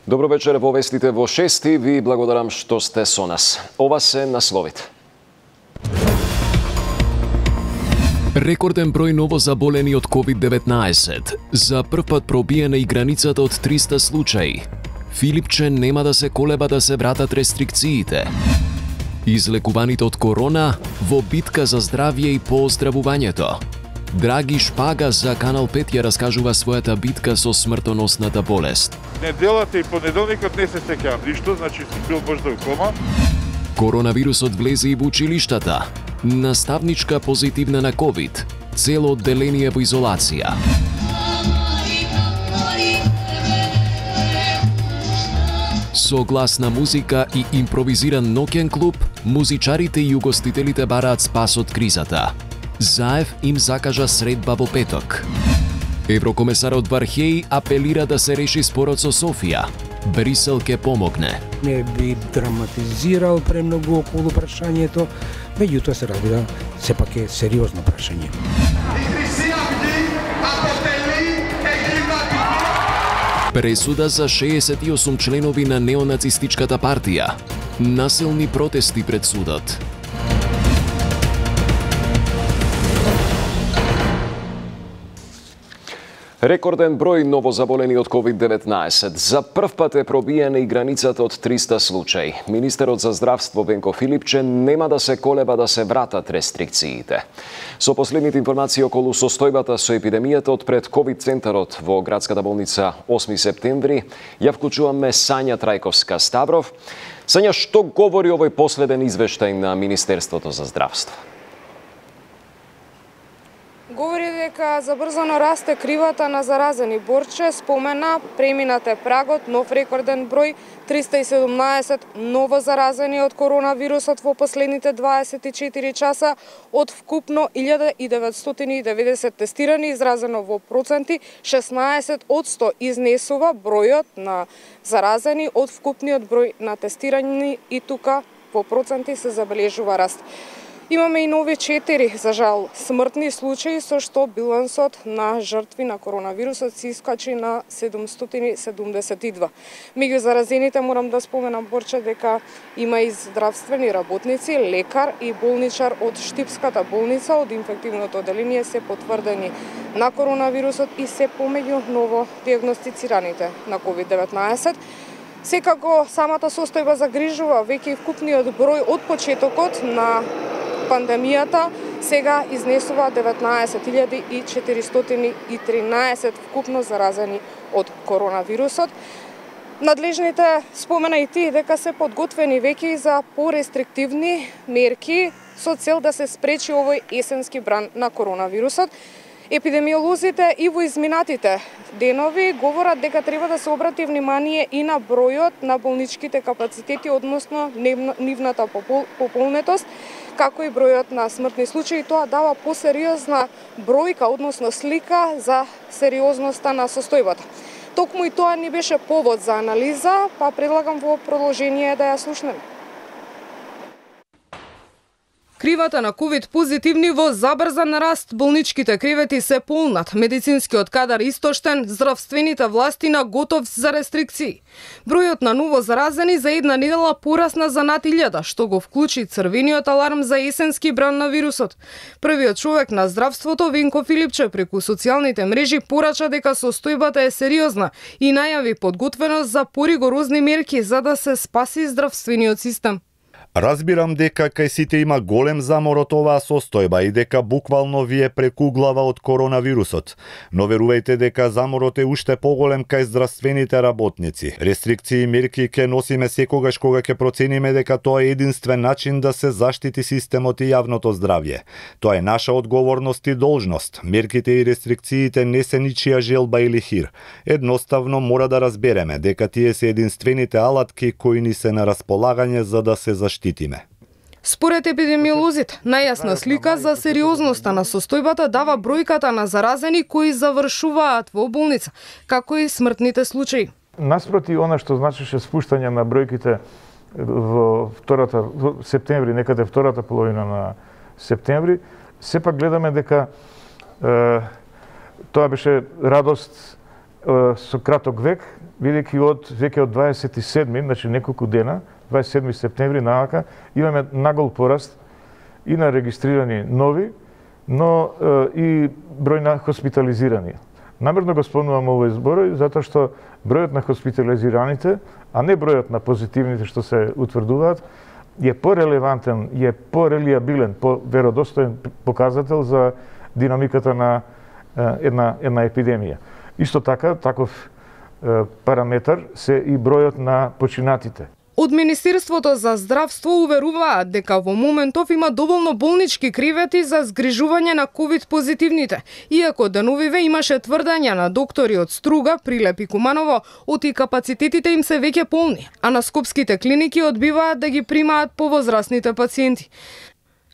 Добро вечер во вестите во 6. Ви благодарам што сте со нас. Ова се насловите. Рекорден број ново заболени од COVID-19. За прв пат пробиена и границата од 300 случаи. Филипче нема да се колеба да се вратат рестрикциите. Излекуваните од корона во битка за здравје и по оздравувањето. Драги Шпага за Канал 5 ја раскажува својата битка со смртоносната болест. Неделата и понеделникот не се сеќавам ништо, значи си бил можда у кома. Коронавирусот влезе и во училиштата. Наставничка позитивна на ковид. Цело одделение во изолација. Со гласна музика и импровизиран ноќен клуб, музичарите и угостителите бараат спас од кризата. Заев им закажа средба во петок. Еврокомесарот Вархеј апелира да се реши спорот со Софија. Брисел ке помогне. Не би драматизирал премногу околу прашањето, меѓутоа се разбира, сепак е сериозно прашање. Пресуда за 68 членови на неонацистичката партија. Насилни протести пред судот. Рекорден број новозаболени од COVID-19. За прв пат е пробиена и границата од 300 случаи. Министерот за здравство Венко Филипче нема да се колеба да се вратат рестрикциите. Со последните информации околу состојбата со епидемијата од пред ковид центарот во градската болница 8 септември, ја вклучуваме Сања Трајковска-Ставров. Сања, што говори овој последен извештај на Министерството за здравство? Говори дека забрзано расте кривата на заразени. Борче спомена преминате прагот, нов рекорден број 317 ново заразени од коронавирусот во последните 24 часа од вкупно 1990 тестирани, изразено во проценти 16% изнесува бројот на заразени од вкупниот број на тестирани и тука во проценти се забележува раст. Имаме и нови 4, за жал, смртни случаи, со што билансот на жртви на коронавирусот се искачи на 772. Меѓу заразените морам да споменам, Борче, дека има и здравствени работници, лекар и болничар од Штипската болница, од инфективното одделение се потврдени на коронавирусот и се помеѓу ново диагностицираните на COVID-19. Секако, самата состојба загрижува, веќе вкупниот број од почетокот на пандемијата сега изнесува 19.413 вкупно заразени од коронавирусот. Надлежните спомена и ти дека се подготвени веќе за порестриктивни мерки со цел да се спречи овој есенски бран на коронавирусот. Епидемиолозите и во изминатите денови говорат дека треба да се обрати внимание и на бројот на болничките капацитети, односно нивната пополнетост, како и бројот на смртни случаи. Тоа дава посериозна бројка, односно слика за сериозноста на состојбата. Токму и тоа ни беше повод за анализа, па предлагам во продолжение да ја слушнеме. Кривата на ковид позитивни во забрзан раст, болничките кревети се полнат, медицинскиот кадар истоштен, здравствените власти на готов за рестрикции. Бројот на ново заразени за една недела порасна за над 1000, што го вклучи црвениот аларм за есенски бран на вирусот. Првиот човек на здравството, Венко Филипче, преку социјалните мрежи порача дека состојбата е сериозна и најави подготвеност за поригорозни мерки за да се спаси здравствениот систем. Разбирам дека кај сите има голем замор од оваа состојба и дека буквално ви е прекуглава од коронавирусот. Но верувајте дека заморот е уште поголем кај здравствените работници. Рестрикции и мерки ќе носиме секогаш кога ќе процениме дека тоа е единствен начин да се заштити системот и јавното здравје. Тоа е наша одговорност и должност. Мерките и рестрикциите не се ничија желба или хир. Едноставно мора да разбереме дека тие се единствените алатки кои ни се на располагање за да се заштитиме. Според епидемиолозите, најасна слика за сериозноста на состојбата дава бројката на заразени кои завршуваат во болница, како и смртните случаи. Наспроти она што значеше спуштање на бројките во септември, некаде втората половина на септември, сепак гледаме дека тоа беше радост со краток век, бидејќи веќе од 27, значи неколку дена, 27 септември навака, имаме нагол пораст и на регистрирани нови, но и број на хоспитализирани. Намерно го спомнувам овој зборој, затоа што бројот на хоспитализираните, а не бројот на позитивните што се утврдуваат, е порелевантен, е порелиабилен, поверодостоен показател за динамиката на една епидемија. Исто така, таков параметар се и бројот на починатите. Од Министерството за здравство уверуваат дека во моментов има доволно болнички кревети за згрижување на ковид позитивните, иако деновиве имаше тврдања на доктори од Струга, Прилеп и Куманово, оти капацитетите им се веќе полни, а на скопските клиники одбиваат да ги примаат повозрасните пациенти.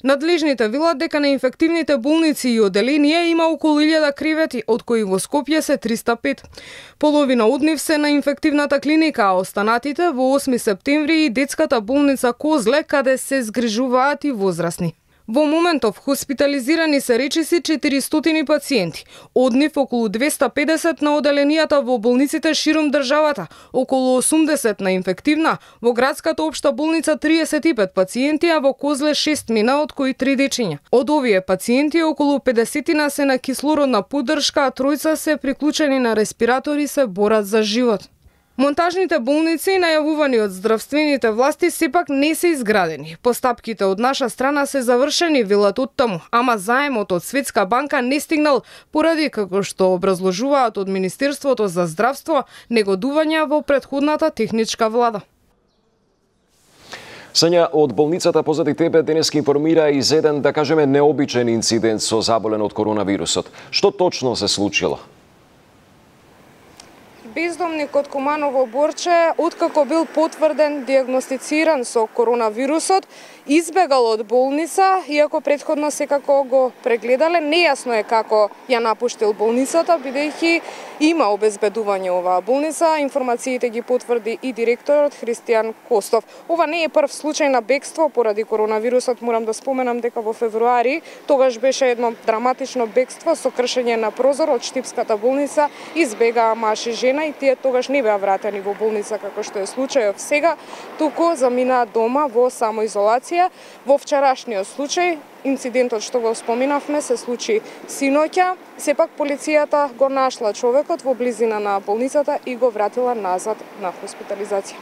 Надлежните велат дека на инфективните болници и оделенија има околу 1000 кревети, од кои во Скопје се 305. Половина од нив се на инфективната клиника, а останатите во 8 септември и детската болница Козле, каде се згрижуваат и возрасни. Во моментов хоспитализирани се речиси 400 пациенти, од нив околу 250 на оделенијата во болниците широм државата, околу 80 на инфективна, во градската општа болница 35 пациенти, а во Козле 6 мина, од кои 3 дечиња. Од овие пациенти околу 50 се на кислородна поддршка, а тројца се приклучени на респиратори се борат за живот. Монтажните болници, најавувани од здравствените власти, сепак не се изградени. Постапките од наша страна се завршени, велат од таму, ама заемот од Светска банка не стигнал поради, како што образложуваат од Министерството за здравство, негодувања во претходната техничка влада. Сања, од болницата позади тебе денеска информира и за еден, да кажеме, необичен инцидент со заболен од коронавирусот. Што точно се случило? Бездомник од Куманово Борче, откако бил потврден, диагностициран со коронавирусот, избегал од болница, иако претходно секако го прегледале. Нејасно е како ја напуштил болницата, бидејќи има обезбедување оваа болница. Информациите ги потврди и директорот Христијан Костов. Ова не е прв случај на бегство поради коронавирусот. Морам да споменам дека во февруари тогаш беше едно драматично бегство со кршење на прозор од Штипската болница. Избегаа маж и жена и тие тогаш не беа вратени во болница како што е случајот сега, туку заминаа дома во самоизолација. Во вчерашниот случај, инцидентот што го споминавме се случи синоќа, сепак полицијата го нашла човекот во близина на болницата и го вратила назад на хоспитализација.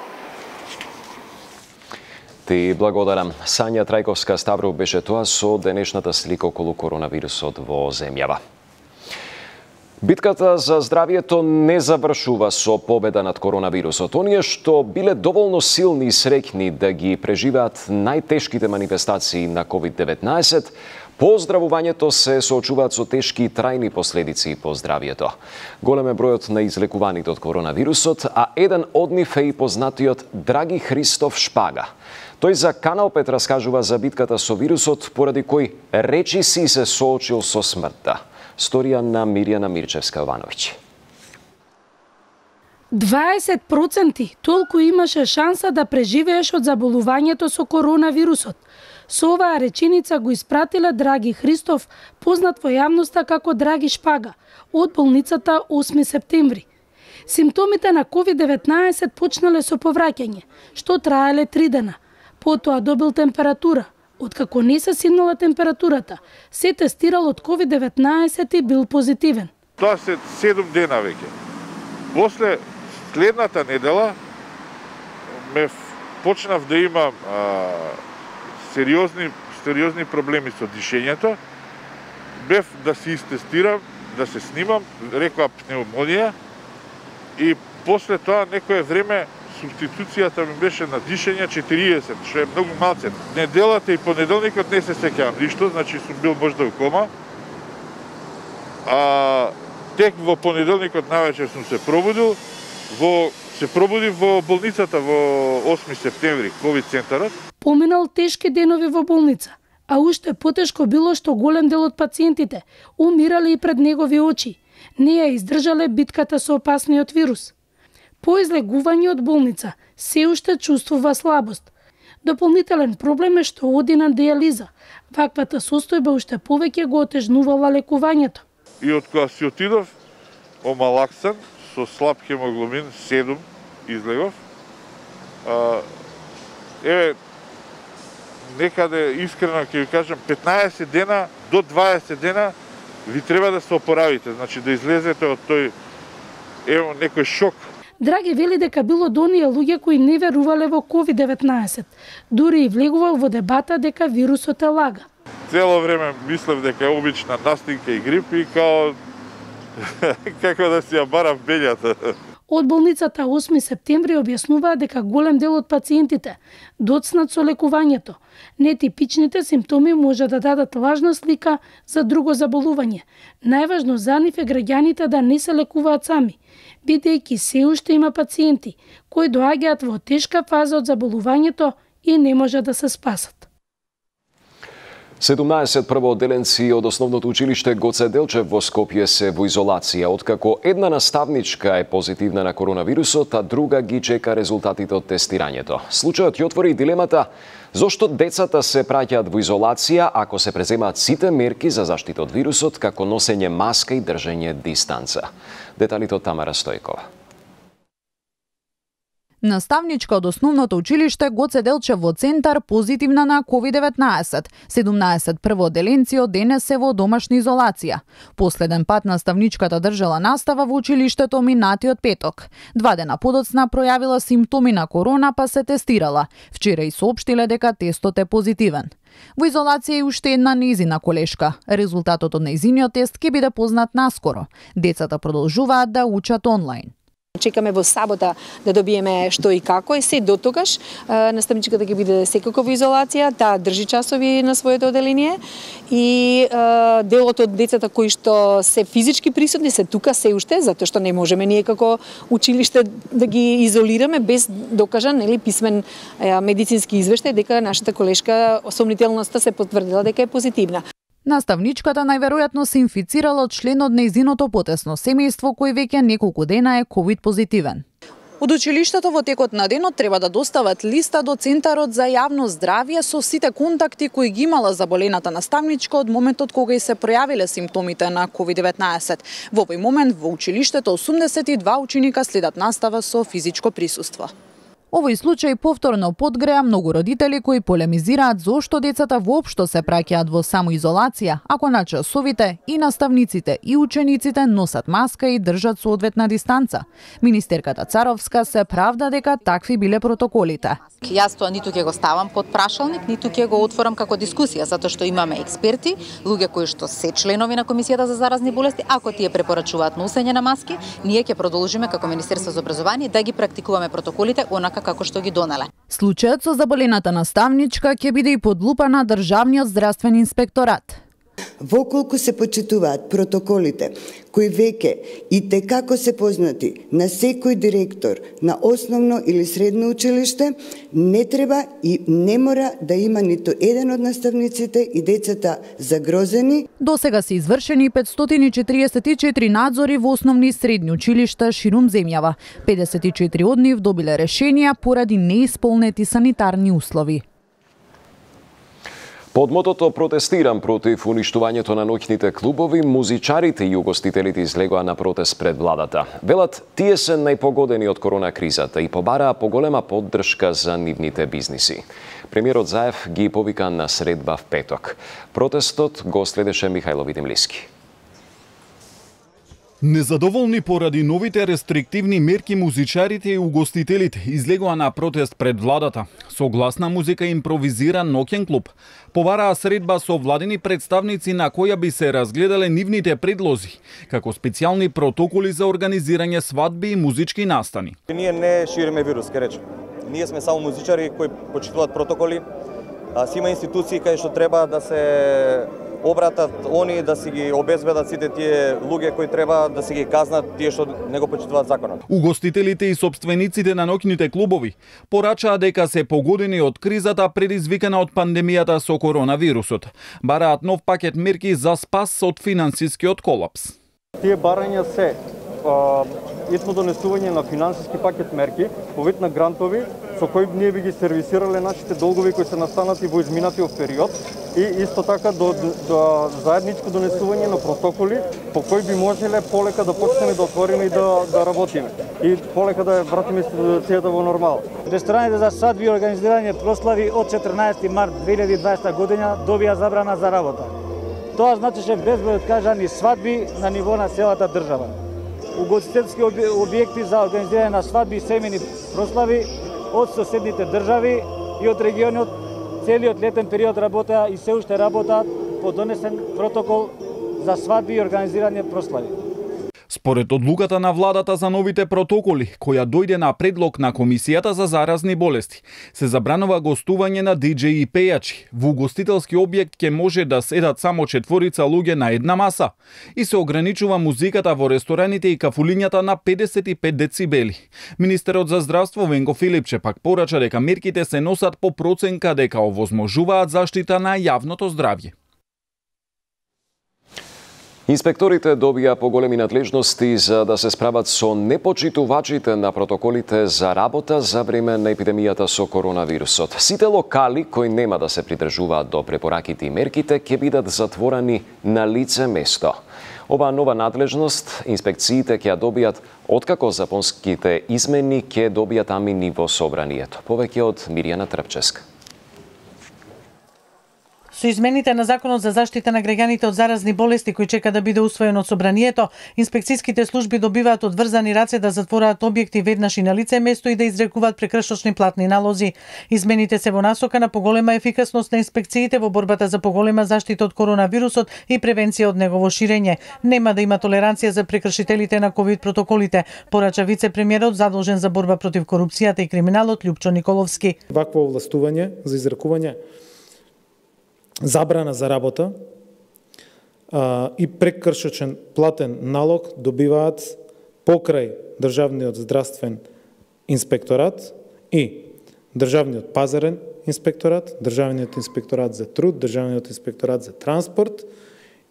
Ти благодарам. Сања Трајковска Ставров беше тоа со денешната слика околу коронавирусот во земјава. Битката за здравието не завршува со победа над коронавирусот. Оние што биле доволно силни и среќни да ги преживеат најтешките манифестации на COVID-19, по оздравувањето се соочуваат со тешки и трајни последици по здравието. Голем е бројот на излекуваните од коронавирусот, а еден од нив е и познатиот Драги Христов Шпага. Тој за Канал 5 раскажува за битката со вирусот, поради кој речиси се соочил со смртта. Сторија на Мирјана Мирчевска-Јовановиќ. 20% толку имаше шанса да преживееш од заболувањето со коронавирусот. Со оваа реченица го испратила Драги Христов, познат во јавноста како Драги Шпага, од болницата 8 септември. Симптомите на COVID-19 почнале со повраќање, што траеле 3 дена. Потоа добил температура. Откако не се симнала температурата, се тестирал од COVID-19 и бил позитивен. Тоа се 7 дена веќе. После следната недела ме почнав да имам сериозни проблеми со дишењето. Бев да се истестирам, да се снимам, рекоа пневмонија и после тоа некое време субституцијата ми беше на дишење 40, што е многу малце. Неделата и понеделникот не се сеќавам ништо, значи сум бил можда у кома. Тек во понеделникот навечер сум се пробудил, се пробудив во болницата во 8 септември, ковид центарот. Поминал тешки денови во болница, а уште потешко било што голем дел од пациентите умирале и пред негови очи. Не ја издржале битката со опасниот вирус. По излегување од болница се уште чувствува слабост. Дополнителен проблем е што оди на диализа. Ваквата состојба уште повеќе го отежнувала лекувањето. И од кога си отидов омалаксан со слаб хемоглобин 7 излегов. Еве, некаде искрено ќе ви кажам, 15 дена до 20 дена ви треба да се опоравите, значи да излезете од тој некој шок. Драги вели дека било до оние луѓе кои не верувале во COVID-19. Дури и влегувал во дебата дека вирусот е лага. Цело време мислев дека е обична настинка и грип и као како да си ја барав бељата. Од болницата 8 септември објаснуваа дека голем дел од пациентите доцнат со лекувањето. Нетипичните симптоми може да дадат лажна слика за друго заболување. Најважно за нив е граѓаните да не се лекуваат сами, бидејќи се уште има пациенти кои доаѓаат во тешка фаза од заболувањето и не може да се спасат. 17 првоодделенци од основното училиште Гоце Делчев во Скопје се во изолација, откако една наставничка е позитивна на коронавирусот, а друга ги чека резултатите од тестирањето. Случајот ја отвори дилемата зошто децата се праќаат во изолација ако се преземаат сите мерки за заштита од вирусот, како носење маска и држење дистанца. Деталите од Тамара Стојкова. Наставничка од основното училиште Гоце Делчев во Центар позитивна на COVID-19. 17 првоодделенци од денес се во домашна изолација. Последен пат наставничката држала настава во училиштето минатиот петок. 2 дена подоцна пројавила симптоми на корона па се тестирала. Вчера и соопштиле дека тестот е позитивен. Во изолација е уште една нејзина колешка. Резултатот од нејзиниот тест ќе биде познат наскоро. Децата продолжуваат да учат онлайн. Чекаме во сабота да добиеме што и како и се дотогаш наставничката ќе биде секако во изолација, таа држи часови на своето оделение и делот од децата кои што се физички присутни се тука се уште, затоа што не можеме ние како училиште да ги изолираме без докажан или писмен медицински извештај дека нашата колешка сомнителноста се потврдила дека е позитивна. Наставничката најверојатно се инфицирала од член од нејзиното потесно семејство кој веќе неколку дена е ковид позитивен. Од училиштето во текот на денот треба да достават листа до Центарот за јавно здравје со сите контакти кои ги имала заболената наставничка од моментот кога и се пројавиле симптомите на COVID-19. Во овој момент во училиштето 82 ученика следат настава со физичко присуство. Овој случај повторно подгреа многу родители кои полемизираат зошто децата воопшто се праќаат во самоизолација, ако на часовите и наставниците и учениците носат маска и држат соодветна дистанца. Министерката Царовска се правда дека такви биле протоколите. Јас тоа ниту ќе го ставам под прашалник, ниту ќе го отворам како дискусија, затоа што имаме експерти, луѓе кои што се членови на Комисијата за заразни болести, ако тие препорачуваат носење на маски, ние ќе продолжиме како Министерство за образование да ги практикуваме протоколите онака како што ги донеле. Случајот со заболената наставничка ќе биде и под лупа на Државниот здравствен инспекторат. Воколку се почитуваат протоколите кои веќе и текако се познати на секој директор на основно или средно училиште, не треба и не мора да има ниту еден од наставниците и децата загрозени. До сега се извршени 544 надзори во основни и средни училишта ширум земјава. 54 од нив добиле решенија поради неисполнети санитарни услови. Под мотото "Протестирам против уништувањето на ноќните клубови", музичарите и угостителите излегоа на протест пред владата. Велат, тие се најпогодени од корона кризата и побараа поголема поддршка за нивните бизниси. Премиерот Заев ги повика на средба в петок. Протестот го следеше Михајло Видимлиски. Незадоволни поради новите рестриктивни мерки, музичарите и угостителите излегоа на протест пред владата. Со гласна музика импровизира ноќен клуб. Побараа средба со владени представници на која би се разгледале нивните предлози, како специјални протоколи за организирање свадби и музички настани. Ние не шириме вирус, ке речем. Ние сме само музичари кои почитуваат протоколи. Си има институции кај што треба да се обратат они да си ги обезбедат сите тие луѓе кои треба да си ги казнат тие што не го почитуваат законот. Угостителите и собствениците на ноќните клубови порачаа дека се погодени од кризата предизвикана од пандемијата со коронавирусот. Бараат нов пакет мерки за спас од финансискиот колапс. Тие барања се донесување на финансиски пакет мерки по вид на грантови со кој ние би ги сервисирале нашите долгови кои се настанати во изминатиот период и исто така до заедничко донесување на протоколи по кои би можеле полека да почнеме да отвориме и да работиме и полека да вратиме ситуацијата во нормал. Рестораните за свадби и организирање прослави од 14 март 2020 година добија забрана за работа. Тоа значеше безброј откажани свадби на ниво на целата држава. Угостителски објекти за организирање на свадби и семејни прослави од соседните држави и од регионот целиот летен период работеа и се уште работаат по донесен протокол за свадби и организирање прослави. Според одлуката на владата за новите протоколи, која дојде на предлог на Комисијата за заразни болести, се забранува гостување на диџеи и пејачи. Во угостителски објект ќе може да седат само 4 луѓе на една маса и се ограничува музиката во рестораните и кафулињата на 55 децибели. Министерот за здравство Венко Филипче пак порача дека мерките се носат по проценка дека овозможуваат заштита на јавното здравје. Инспекторите добија поголеми надлежности за да се справат со непочитувачите на протоколите за работа за време на епидемијата со коронавирусот. Сите локали кои нема да се придржуваат до препораките и мерките ќе бидат затворени на лице место. Оваа нова надлежност инспекциите ќе ја добијат откако законските измени ќе добијат амини во собранието. Повеќе од Миријана Трпческа. Со измените на Законот за заштита на граѓаните од заразни болести кој чека да биде усвоен од собранието, инспекцијските служби добиваат одврзани раце да затвораат објекти веднаш и на лице место и да изрекуваат прекршочни платни налози. Измените се во насока на поголема ефикасност на инспекциите во борбата за поголема заштита од коронавирусот и превенција од негово ширење. Нема да има толеранција за прекршителите на ковид протоколите, порача вице-премиерот задолжен за борба против корупцијата и криминалот Љупчо Николовски. Вакво овластување за изрекување забрана за работа и прекршочен платен налог добиваат покрај Државниот здравствен инспекторат и Државниот пазарен инспекторат, Државниот инспекторат за труд, Државниот инспекторат за транспорт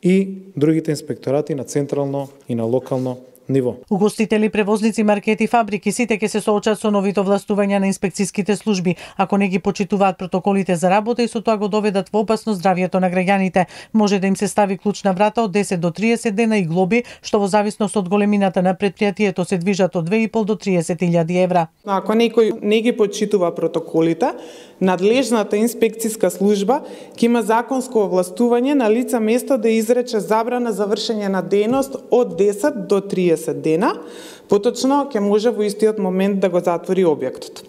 и другите инспекторати на централно и на локално ниво. Угостители, превозници, маркети, фабрики, сите ќе се соочат со новите овластувања на инспекцијските служби, ако не ги почитуваат протоколите за работа и со тоа го доведат во опасност здравјето на граѓаните. Може да им се стави клучна врата од 10 до 30 дена и глоби, што во зависност од големината на предпријатието се движат од 2,5 до 30.000 евра. Ако некој не ги почитува протоколите, надлежната инспекцијска служба ќе има законско овластување на лице место да изрече забрана за вршење на дејност од 10 до 30 дена, поточно ќе може во истиот момент да го затвори објектот.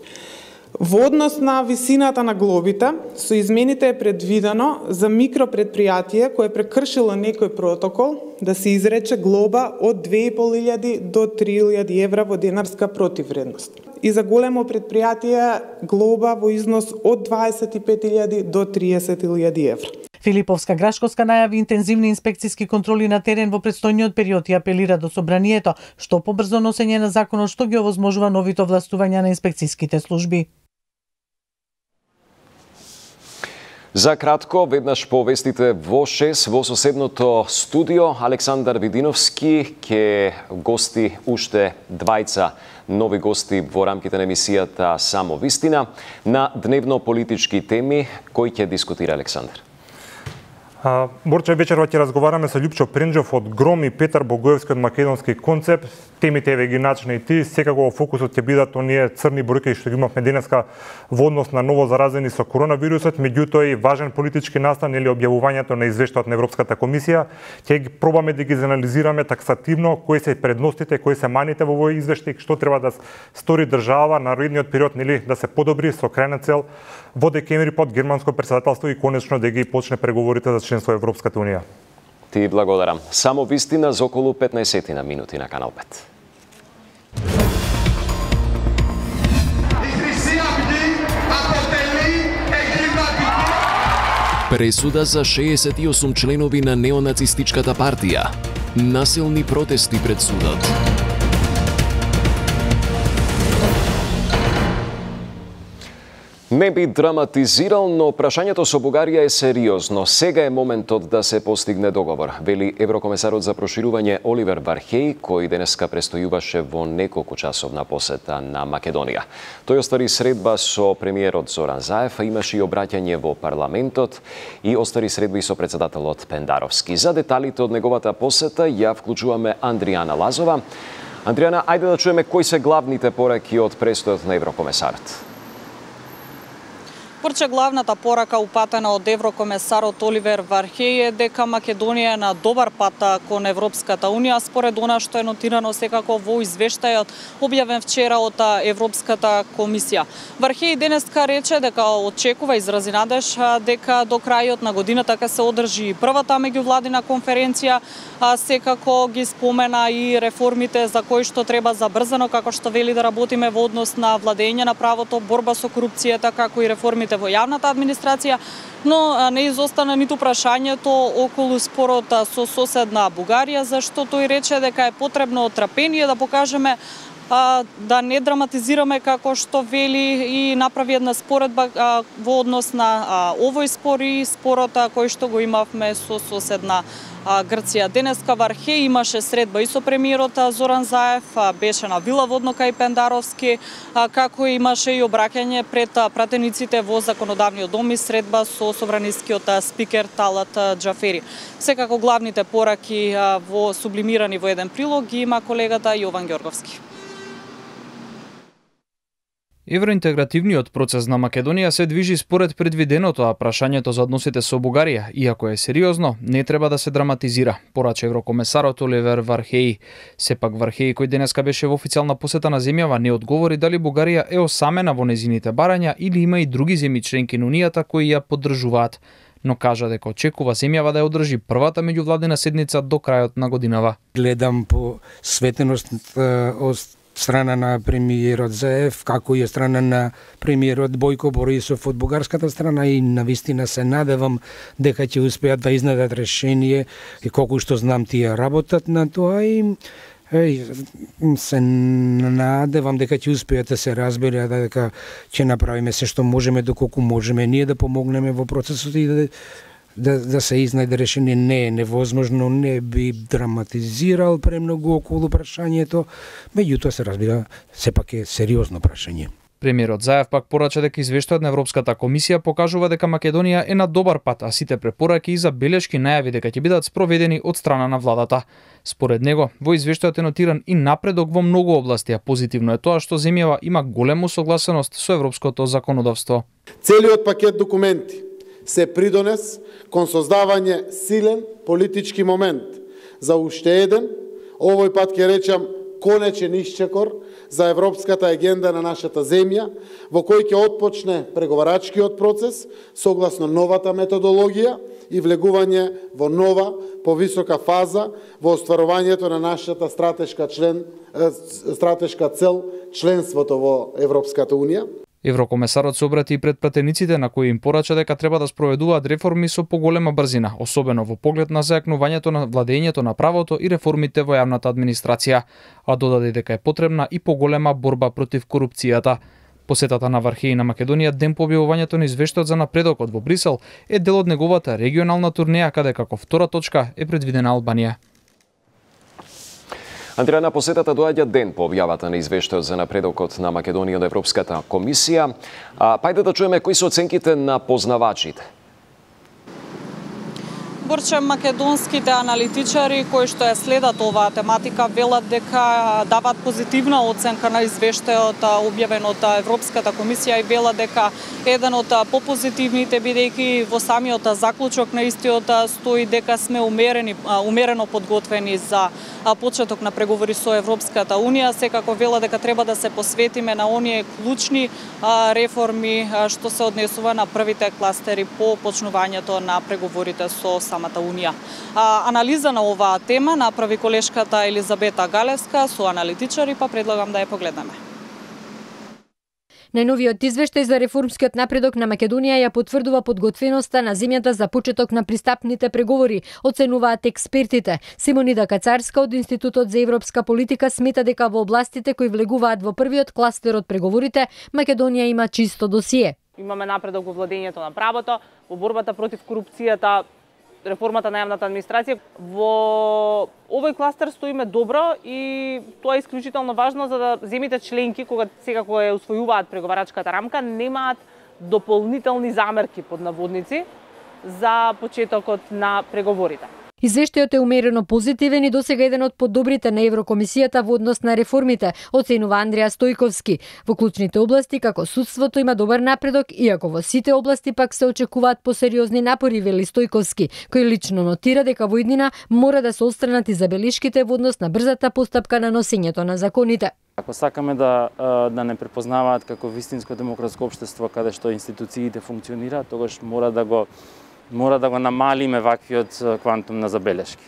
Во однос на висината на глобите, со измените е предвидено за микропредпријатие кое прекршило некој протокол да се изрече глоба од 2.500 до 3.000 евра во денарска противвредност. И за големо предпријатие глоба во износ од 25.000 до 30.000 евра. Филиповска Грашковска најави интензивни инспекцијски контроли на терен во предстојниот период и апелира до собранието што побрзо носење на законот што ги овозможува новите овластувања на инспекцијските служби. За кратко, веднаш по вестите во 6 во соседното студио, Александар Видиновски ќе гости уште двајца нови гости во рамките на емисијата Само вистина на дневно политички теми кои ќе дискутира Александар. Борче, вечерва ќе разговараме со Љупчо Пренџов од Гром и Петар Богоевски од Македонски концепт. Темите еве ги начина и ти, секако во фокусот ќе бидат оние црни бројки што ги имавме денеска во однос на ново заразени со коронавирусот, меѓутоа и важен политички настан или објавувањето на извештајот на Европската комисија. Ќе ги пробаме да ги анализираме таксативно кои се предностите, кои се маните во овој извештај, што треба да стори држава на наредниот период, нели, да се подобри со крајна цел во декември под германско претседателство и конечно да ги почне преговорите за членство во Европската унија. Ти благодарам. Само вистина за околу 15 на минути на Канал 5. Пресуда за 68 членови на неонацистичката партија. Насилни протести пред судот. Не би драматизирал, но прашањето со Бугарија е сериозно. Сега е моментот да се постигне договор, вели еврокомесарот за проширување Оливер Вархеј, кој денеска престојуваше во неколку часовна посета на Македонија. Тој оствари средба со премиерот Зоран Заев, а имаше и обраќање во парламентот и оствари средби со председателот Пендаровски. За деталите од неговата посета ја вклучуваме Андријана Лазова. Андријана, ајде да чуеме кои се главните пораки од престојот на еврокомесарот. Порче главната порака упатена од еврокомесарот Оливер Вархеј е дека Македонија е на добар пат кон Европската Унија, според она што е нотирано секако во извештајот објавен вчера од Европската комисија. Вархеј денеска рече дека очекува, изрази надеж дека до крајот на годината ќе се одржи првата меѓувладина конференција, секако ги спомена и реформите за кои што треба забрзано, како што вели да работиме во однос на владење на правото, борба со корупцијата, како и реформите во јавната администрација, но не изостана ниту прашањето околу спорот со соседна Бугарија, зашто тој рече дека е потребно трпение да покажеме, да не драматизираме како што вели и направи една споредба во однос на овој спор и спорот кој што го имавме со соседна Грција. Денеска Вархеј имаше средба и со премиерот Зоран Заев, беше на вила водно кај Пендаровски, како имаше и обраќање пред пратениците во законодавниот дом и средба со собранискиот спикер Талат Џафери. Секако главните пораки во сублимирани во еден прилог ги има колегата Јован Ѓорговски. Евроинтегративниот процес на Македонија се движи според предвиденото, а прашањето за односите со Бугарија, иако е сериозно, не треба да се драматизира, порача еврокомесарот Оливер Вархеј. Сепак Вархеј, кој денеска беше во официјална посета на земјава, не одговори дали Бугарија е осамена во незините барања или има и други земји членки на Унијата кои ја поддржуваат, но кажа дека очекува земјава да ја одржи првата меѓувладина седница до крајот на годинава. Гледам по светеност од страна на премиерот Заев, како и страна на премиерот Бојко Борисов од бугарската страна и навистина се надевам дека ќе успеат да изнедат решение и колку што знам тие работат на тоа и се надевам дека ќе успеат да се разберат дека ќе направиме се што можеме доколку можеме ние да помогнеме во процесот и да се изнајде решение. Не е невозможно, не би драматизирал премногу околу прашањето, меѓутоа се разбира, сепак е сериозно прашање. Премиерот Заев пак порача дека извештајот на Европската комисија покажува дека Македонија е на добар пат, а сите препораки и забелешки најави дека ќе бидат спроведени од страна на владата. Според него, во извештајот е нотиран и напредок во многу области, а позитивно е тоа што земјава има голема согласеност со европското законодавство. Целиот пакет документи се придонес кон создавање силен политички момент за уште еден, овој пат ќе речам конечен исчекор за европската агенда на нашата земја, во кој ќе отпочне преговарачкиот процес согласно новата методологија и влегување во нова, повисока фаза во остварувањето на нашата стратешка цел членството во Европската Унија. Еврокомесарот се обрати и пред пратениците на кои им порача дека треба да спроведуваат реформи со поголема брзина, особено во поглед на зајакнувањето на владењето на правото и реформите во јавната администрација, а додаде дека е потребна и поголема борба против корупцијата. Посетата на Вархеј на Македонија ден по објавувањето на извештајот за напредокот во Брисел е дел од неговата регионална турнеја каде како втора точка е предвидена Албанија. Андријана, посетата доаѓа ден по објавата на извештајот за напредокот на Македонија од Европската комисија. Пајде да чуеме кои се оценките на познавачите. Борче, македонските аналитичари кои што ја следат оваа тематика велат дека даваат позитивна оценка на извештајот објавен од Европската комисија и велат дека еден од попозитивните, бидејќи во самиот заклучок на истиот стои дека сме умерено подготвени за почеток на преговори со Европската Унија. Секако вела дека треба да се посветиме на оние клучни реформи што се однесува на првите кластери по почнувањето на преговорите со самата Унија. Анализа на оваа тема направи колешката Елизабета Галевска со аналитичари, па предлагам да ја погледнеме. Најновиот извештај за реформскиот напредок на Македонија ја потврдува подготвеноста на земјата за почеток на пристапните преговори, оценуваат експертите. Симонида Кацарска од Институтот за европска политика смета дека во областите кои влегуваат во првиот кластер од преговорите, Македонија има чисто досие. Имаме напредок во владењето на правото, во борбата против корупцијата, реформата на јавната администрација. Во овој кластер стоиме добро и тоа е исклучително важно за да земите членки, кога секако ја усвојуваат преговарачката рамка, немаат дополнителни замерки под наводници за почетокот на преговорите. Извештајот е умерено позитивен и досега еден од подобрите на Еврокомисијата во однос на реформите, оценува Андрија Стојковски. Во клучните области, како судството, има добар напредок, иако во сите области пак се очекуваат посериозни напори, вели Стојковски, кој лично нотира дека во иднина мора да се отстранат и забелишките во однос на брзата постапка на носењето на законите. Ако сакаме да не препознаваат како вистинско демократско општество каде што институциите функционираат, тогаш мора да го намалиме ваквиот квантум на забелешки.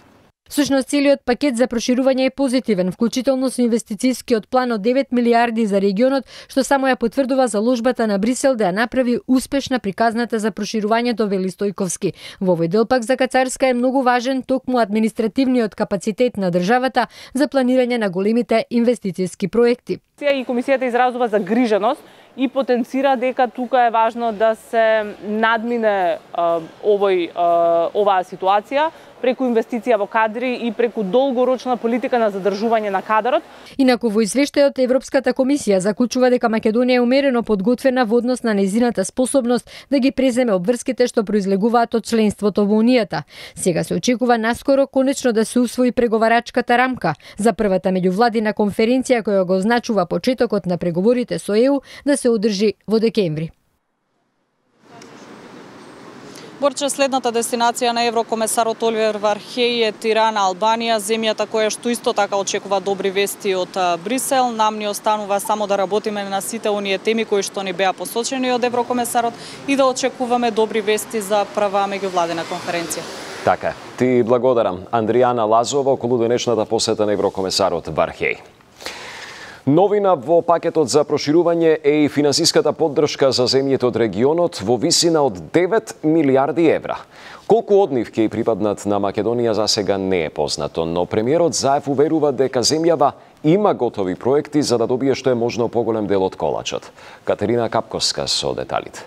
Всушност, целиот пакет за проширување е позитивен, вклучително со инвестицискиот план од 9 милиарди за регионот, што само ја потврдува заложбата на Брисел да ја направи успешна приказната за проширувањето, вели Стојковски. Во овој дел пак за Кацарска е многу важен токму административниот капацитет на државата за планирање на големите инвестициски проекти. И комисијата изразува загриженост и потенцира дека тука е важно да се надмине оваа ситуација преку инвестиција во кадри и преку долгорочна политика на задржување на кадрот. Инаку во извештајот Европската комисија заклучува дека Македонија е умерено подготвена во однос на нејзината способност да ги преземе обврските што произлегуваат од членството во Унијата. Сега се очекува наскоро конечно да се усвои преговарачката рамка за првата меѓувладина конференција која го означува почетокот на преговорите со ЕУ да се одржи во декември. Борче, следната дестинација на еврокомесарот Оливер Вархеј е Тирана, Албанија, земјата која што исто така очекува добри вести од Брисел. Нам ни останува само да работиме на сите оние теми кои што ни беа посочени од еврокомесарот и да очекуваме добри вести за прва меѓувладина конференција. Така, ти благодарам. Андријана Лазова околу денешната посета на еврокомесарот Вархеј. Новина во пакетот за проширување е и финансиската поддршка за земјите од регионот во висина од 9 милиарди евра. Колку од нив ќе припаднат на Македонија засега не е познато, но премиерот Заев уверува дека земјава има готови проекти за да добие што е можно поголем дел од колачот. Катерина Капковска со деталите.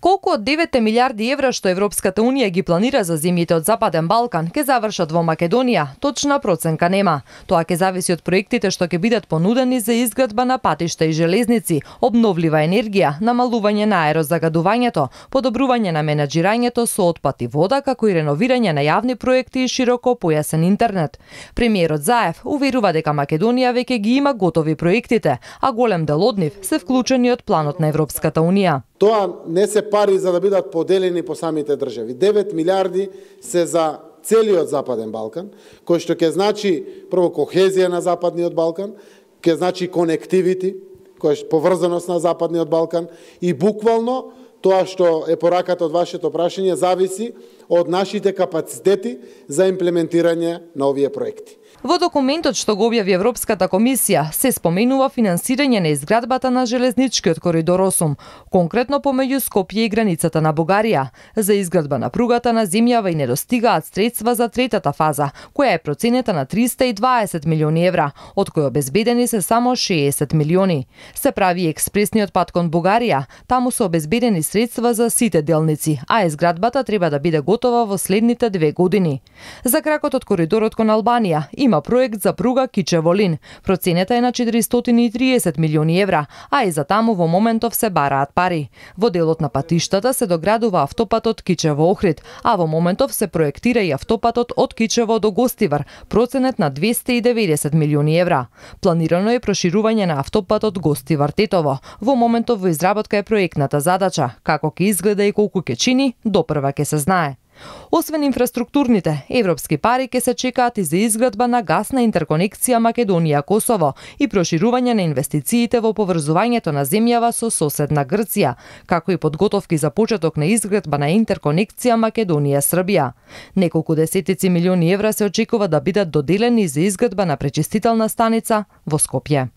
Колку од 9 милиарди евра што Европската Унија ги планира за земјите од Западен Балкан ќе завршат во Македонија, точна проценка нема. Тоа ќе зависи од проектите што ќе бидат понудени за изградба на патишта и железници, обновлива енергија, намалување на аерозагадувањето, подобрување на менаџирањето со отпад и вода, како и реновирање на јавни проекти и широко појасен интернет. Премиерот Заев уверува дека Македонија веќе ги има готови проектите, а голем дел од нив се вклучени од планот на Европската Унија. Тоа не се пари за да бидат поделени по самите држави. 9 милиарди се за целиот Западен Балкан, кој што ќе значи прво кохезија на Западниот Балкан, ќе значи конективити, кој е поврзаност на Западниот Балкан и буквално тоа што е пораката од вашето прашање зависи од нашите капацитети за имплементирање на овие проекти. Во документот што го објави Европската комисија се споменува финансирање на изградбата на железничкиот коридор 8, конкретно помеѓу Скопје и границата на Бугарија. За изградба на пругата на земјава и недостигаат средства за третата фаза, која е проценета на 320 милиони евра, од кои обезбедени се само 60 милиони. Се прави експресниот пат кон Бугарија, таму се обезбедени средства за сите делници, а изградбата треба да биде готова во следните 2 години. За кракот од коридорот кон Албанија има проект за пруга Кичево-Лин. Проценета е на 430 милиони евра, а и за таму во моментов се бараат пари. Во делот на патиштата се доградува автопатот Кичево-Охрид, а во моментов се проектира и автопатот од Кичево до Гостивар, проценет на 290 милиони евра. Планирано е проширување на автопатот Гостивар-Тетово. Во моментов во изработка е проектната задача. Како ќе изгледа и колку ќе чини, допрва ќе се знае. Освен инфраструктурните, европски пари ќе се чекаат и за изградба на гасна интерконекција Македонија-Косово и проширување на инвестициите во поврзувањето на земјава со соседна Грција, како и подготовки за почеток на изградба на интерконекција Македонија-Србија. Неколку десетици милиони евра се очекува да бидат доделени за изградба на пречистителна станица во Скопје.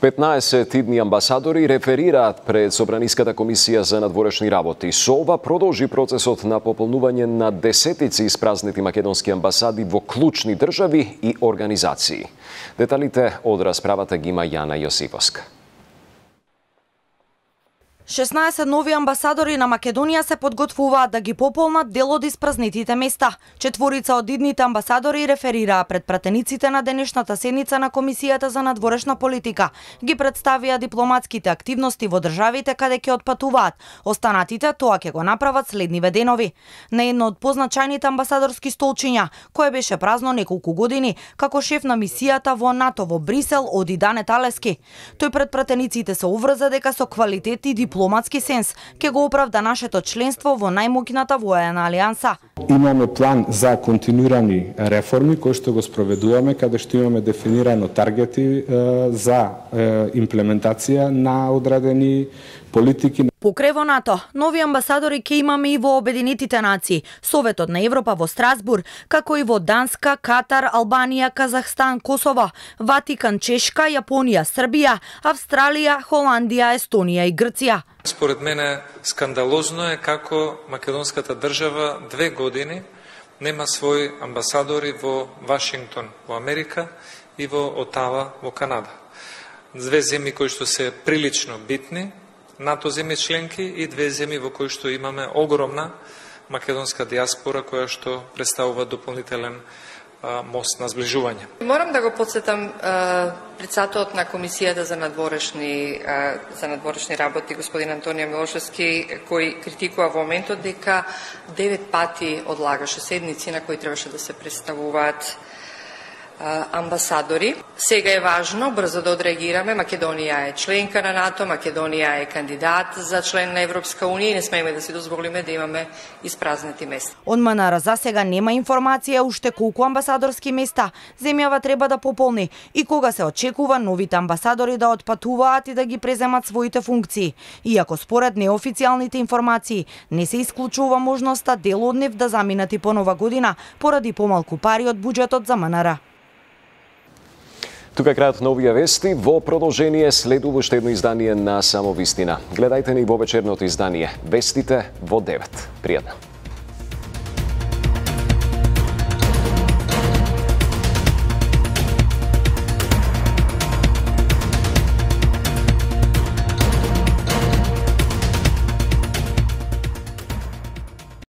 15 идни амбасадори реферираат пред Собраниската комисија за надворешни работи. Со ова продолжи процесот на пополнување на десетици испразнети македонски амбасади во клучни држави и организации. Деталите од расправата ги има Јана Јосиповска. 16 нови амбасадори на Македонија се подготвуваат да ги пополнат дел од испразнетите места. Четворица од идните амбасадори реферираа пред пратениците на денешната седница на Комисијата за надворешна политика. Ги представија дипломатските активности во државите каде ќе отпатуваат. Останатите тоа ќе го направат следниве денови. На едно од позначајните амбасадорски столчиња, кое беше празно неколку години, како шеф на мисијата во НАТО во Брисел, оди Дане Талески. Тој пред пратениците се уврза дека со квалитет и дипломатски сенс ќе го оправда нашето членство во најмоќната воена алијанса. Имаме план за континуирани реформи кои што го спроведуваме, каде што имаме дефинирано таргети за имплементација на одредени политики. Покрај во НАТО, нови амбасадори ќе имаме и во Обединетите нации, Советот на Европа во Страсбург, како и во Данска, Катар, Албанија, Казахстан, Косово, Ватикан, Чешка, Јапонија, Србија, Австралија, Холандија, Естонија и Грција. Според мене скандалозно е како македонската држава 2 години нема своји амбасадори во Вашингтон, во Америка и во Отава, во Канада. 2 земји кои што се прилично битни, НАТО земји членки и 2 земји во кои што имаме огромна македонска диаспора која што представува дополнителен мост на сближување. Морам да го подсетам председателот на Комисијата за надворешни работи, господин Антонио Милошевски, кој критикува во моментот дека 9 пати одлагаше седници на кои требаше да се представуваат амбасадори. Сега е важно брзо да одреагираме. Македонија е членка на НАТО, Македонија е кандидат за член на Европска унија и не смееме да си дозволиме да имаме испразнети места. Од МНР за сега нема информација уште колку амбасадорски места земјава треба да пополни и кога се очекува новите амбасадори да отпатуваат и да ги преземат своите функции. Иако според неофицијалните информации не се исклучува можноста дел од нив да заминат и по нова година поради помалку пари од буџетот за МНР. Тука е крајот на овие вести. Во продолжение следува уште едно издание на Само вистина. Гледајте ни во вечерното издание. Вестите во 9. Пријатно.